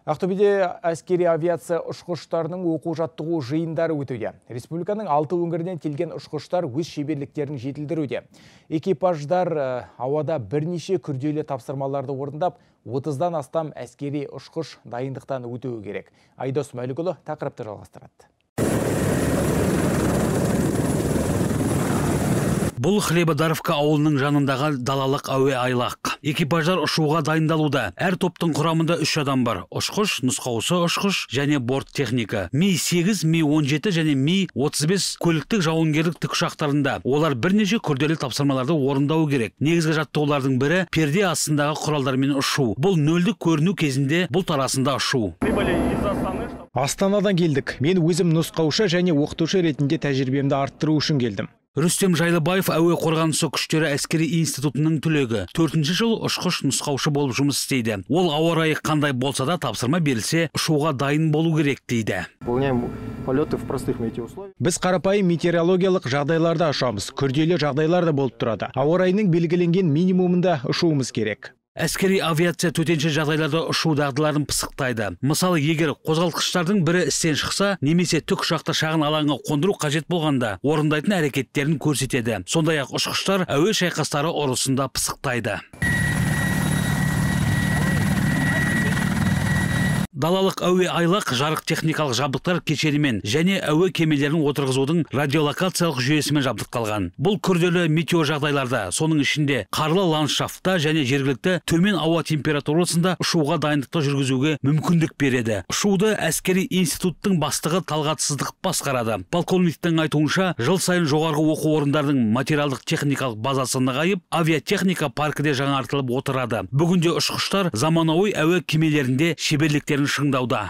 Ақтөбеде әскери авиация ұшқыштарының оқу-жаттығу жиындары өтуде. Республиканың 6 өңірінен келген ұшқыштар өз шеберліктерін жетілдіруде. Экипаждар ауада бірнеше күрделі тапсырмаларды орындап, 30-дан астам әскери ұшқыш дайындықтан өтуі керек. Айдос Мәлікұлы тақырыпты жалғастырады. Бұл Хлебодаровка ауылының жанындағы далалық әуе айлақ. Экипаждар ұшуға дайындалуда. Әр топтың құрамында 3 адам бар. Ұшқыш, нұсқаушы ұшқыш және борт техника. Ми-8, Ми-17 және Ми-35 көліктік жауынгерлік тікұшақтарында. Олар бірнеше күрделі тапсырмаларды орындауы керек. Негізгі жаттығулардың бірі перде астындағы құралдармен ұшу. Бұл нөлдік көріну кезінде бұл тарасында ұшу. Астанадан келдік. Мен өзім нұсқаушы және оқытушы ретінде тәжірибемді арттыру үшін келдім. Рүстем Жайлыбаев әуе қорғанысы күштері әскери институтының түлегі. 4-ші жыл ұшқыш нұсқаушы болып жұмыс істейді. Ол ауа райы қандай болса да тапсырма берілсе, ұшуға дайын болу керек дейді. Біз қарапайым метеорологиялық жағдайларда ұшамыз. Күрделі жағдайлар да болып тұрады. Ауа райының белгіленген минимумында ұшуымыз керек. Әскери авиация төтенше жағдайларда ұшу дағдыларын пысықтайды. Мысалы, егер қозғалтқыштардың бірі істен шықса, немесе тікұшақты шағын алаңға қондыру қажет болғанда, орындайтын әрекеттерін көрсетеді. Сондай-ақ ұшқыштар әуе шайқастары ұрысында пысықтайды. Далалық әуе айлақ жарық техникалық жабдықтар кешенімен және әуе кемелерін отырғызудың радиолокациялық жүйесімен жабдықталған. Бұл күрделі метео жағдайларда, соның ішінде қарлы ландшафтта және жергілікті төмен ауа температурасында ұшуға дайындықты жүргізуге мүмкіндік береді. Ұшуды әскери институттың бастығы Талғат Сыздықов басқарады. Полковниктің айтуынша, жыл сайын жоғарғы оқу орындарының материалдық техникалық базасы нығайып, авиатехника паркіде жаңартылып отырады. Бүгінде ұшқыштар заманауи әуе кемелерінде шеберліктерін шыңдауда.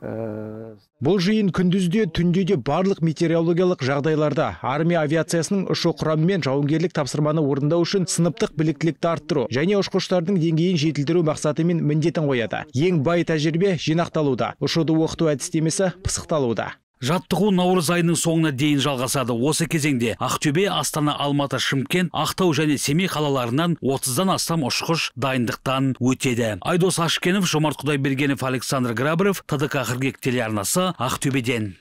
Бұл жиын күндізде, түнде де барлық метеорологиялық жағдайларда армия авиациясының ұшу құрамы мен жауынгерлік тапсырманы орындау үшін сыныптық біліктілікті арттыру және ұшқыштардың деңгейін жетілдіру мақсатымен міндетін қояды. Ең бай тәжірибе жинақталуда, ұшуды оқыту әдістемесі пысықталуда. Жаттығу наурыз айының соңына дейін жалғасады. Осы кезеңде Ақтөбе, Астана, Алматы, Шымкент, Ақтау және Семей қалаларынан 30-дан астам ұшқыш дайындықтан өтеді. Айдос Ашкенов, Жомарт Құдайбергенов, Александр Грабарев, ТДК қыркүйек телеарнасы, Ақтөбеден.